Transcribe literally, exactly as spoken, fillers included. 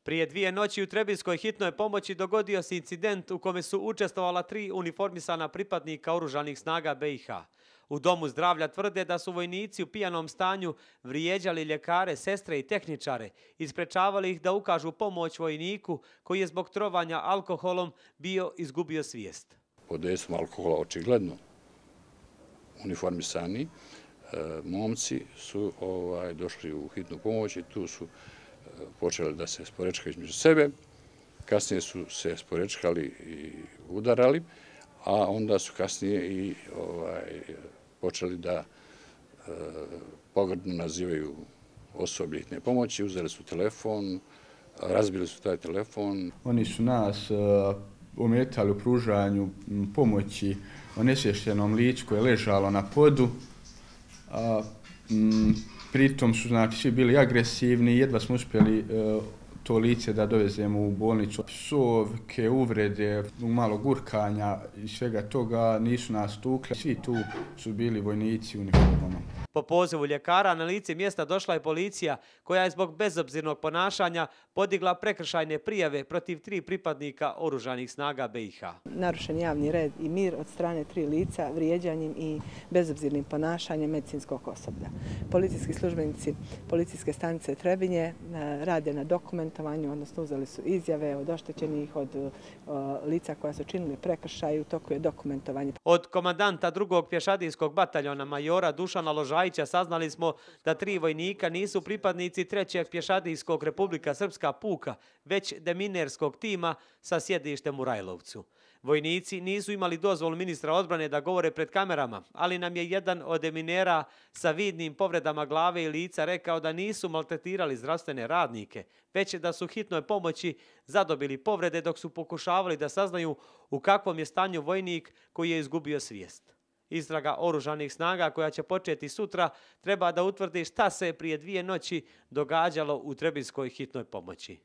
Prije dvije noći u Trebinskoj hitnoj pomoći dogodio se incident u kome su učestvovala tri uniformisana pripadnika oružanih snaga B i H. U domu zdravlja tvrde da su vojnici u pijanom stanju vrijeđali ljekare, sestre i tehničare i sprečavali ih da ukažu pomoć vojniku koji je zbog trovanja alkoholom bio izgubio svijest. Pod dejstvom alkohola očigledno uniformisani e, momci su ovaj, došli u hitnu pomoć i tu su e, počeli da se sporečkaju između sebe. Kasnije su se sporečkali i udarali, a onda su kasnije i ovaj, počeli da e, pogrdno nazivaju osoblje hitne pomoći, uzeli su telefon, razbili su taj telefon. Oni su nas uh, ometali u pružanju pomoći onesvještenom licu koje je ležalo na podu. A, m, pritom su znači, svi bili agresivni i jedva smo uspjeli uh, to lice da dovezemo u bolnicu. Psovke, uvrede, malo gurkanja i svega toga nisu nas tukli. Svi tu su bili vojnici u uniformama. Po pozivu ljekara na lice mjesta došla je policija koja je zbog bezobzirnog ponašanja podigla prekršajne prijave protiv tri pripadnika oružanih snaga B i H. Narušen javni red i mir od strane tri lica vrijeđanjem i bezobzirnim ponašanjem medicinskog osoblja. Policijski službenici policijske stanice Trebinje rade na dokumentovanju, odnosno uzeli su izjave od oštećenih, od lica koja su činili prekršaj, u toku je dokumentovanje. Od komandanta drugog pješadijskog bataljona majora Dušana Ložajića saznali smo da tri vojnika nisu pripadnici trećeg pješadijskog Republika Srpska puka, već deminerskog tima sa sjedištem u Rajlovcu. Vojnici nisu imali dozvolu ministra odbrane da govore pred kamerama, ali nam je jedan od deminera sa vidnim povredama glave i lica rekao da nisu maltretirali zdravstvene radnike, već da su hitnoj pomoći zadobili povrede dok su pokušavali da saznaju u kakvom je stanju vojnik koji je izgubio svijest. Istraga oružanih snaga koja će početi sutra treba da utvrdi šta se prije dvije noći događalo u Trebinskoj hitnoj pomoći.